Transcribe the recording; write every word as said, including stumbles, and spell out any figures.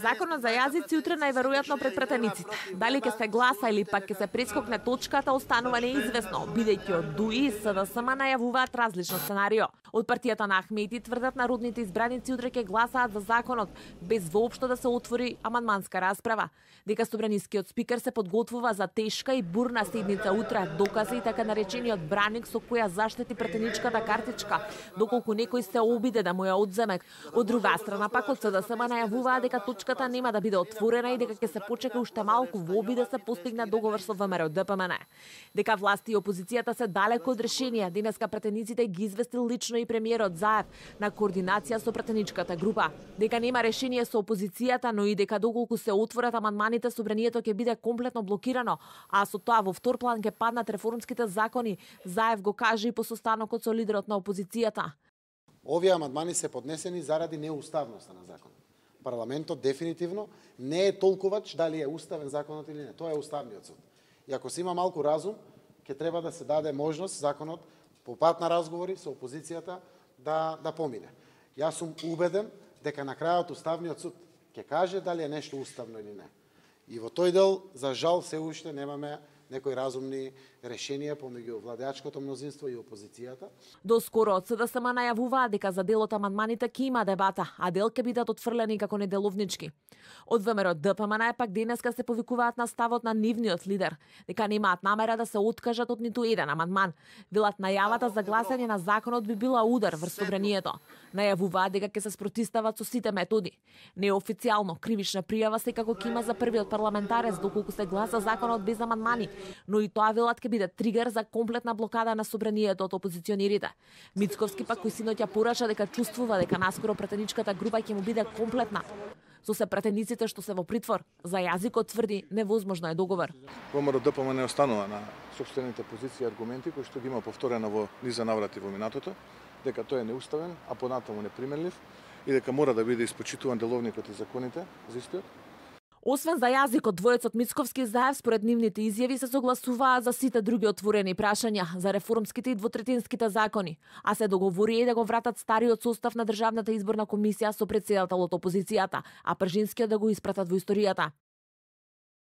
Законот за јазици утре најверојатно пред пратениците. Дали ќе се гласа или пак ќе се прескокне точката останува неизвестно, бидејќи од ДУИ и СДСМ најавуваат различно сценарио. Од партијата на Ахмети тврдат народните избраници утре ќе гласаат за законот без воопшто да се отвори амандманска расправа. Дека собранискиот спикер се подготвува за тешка и бурна седница утре, доказа и така наречениот браник со која заштити пратеничката картичка, доколку некој се обиде да му ја одземе. Од друга страна пак од СДСМ најавуваа дека точката нема да биде отворена и дека ќе се почека уште малку во обид да се постигне договор со ВМРО ДПМН. Дека власти и опозицијата се далеко од решение, денеска пратениците ги известил лично и премиерот Заев на координација со пратеничката група. Дека нема решение со опозицијата, но и дека доколку се отворат амандманите, собранието ќе биде комплетно блокирано, а со тоа во втор план ќе паднат реформските закони, Заев го каже и по состанокот со лидерот на опозицијата. Овие амандмани се поднесени заради неуставноста на законот. Парламентот дефинитивно не е толкувач дали е уставен законот или не. Тоа е уставниот суд. И ако се има малку разум, ќе треба да се даде можност законот по пат на разговори со опозицијата да да помине. Јас сум убеден дека на крајот уставниот суд ќе каже дали е нешто уставно или не. И во тој дел, за жал, се уште немаме некои разумни решенија помеѓу владеачкото мнозинство и опозицијата. Доскоро од СДСМ најавуваа дека за дел од амандманите ќе има дебата, а дел ќе бидат отфрлени како неделовнички. Од ВМРО ДПМН пак денеска се повикуваат на ставот на нивниот лидер, дека немаат намера да се откажат од ниту еден амандман. Велат најавата за гласање на законот би била удар врз собранието. Најавуваат дека ќе се спротистават со сите методи. Неофицијално кривична пријава секако ќе има за првиот парламентарец доколку се гласа законот без амандмани, но и тоа велат ќе биде тригер за комплетна блокада на собранието од опозиционерите. Мицковски пак кој синоќа порача дека чувствува дека наскоро пратеничката група ќе му биде комплетна. Со се пратениците што се во притвор, за јазикот тврди невозможно е договор. ВМРО ДПМН останува на сопствените позиции и аргументи кои што ги има повторено во низа наврати во минатото, дека тој е неуставен, а понатаму непримерлив и дека мора да биде испочитуван деловникот и законите за истиот. Освен за јазикот, двојцот Мицковски и Заев според нивните изјави се согласуваа за сите други отворени прашања, за реформските и двотретинските закони, а се договори и да го вратат стариот состав на Државната изборна комисија со претседателот опозицијата, а пржинскиот да го испратат во историјата.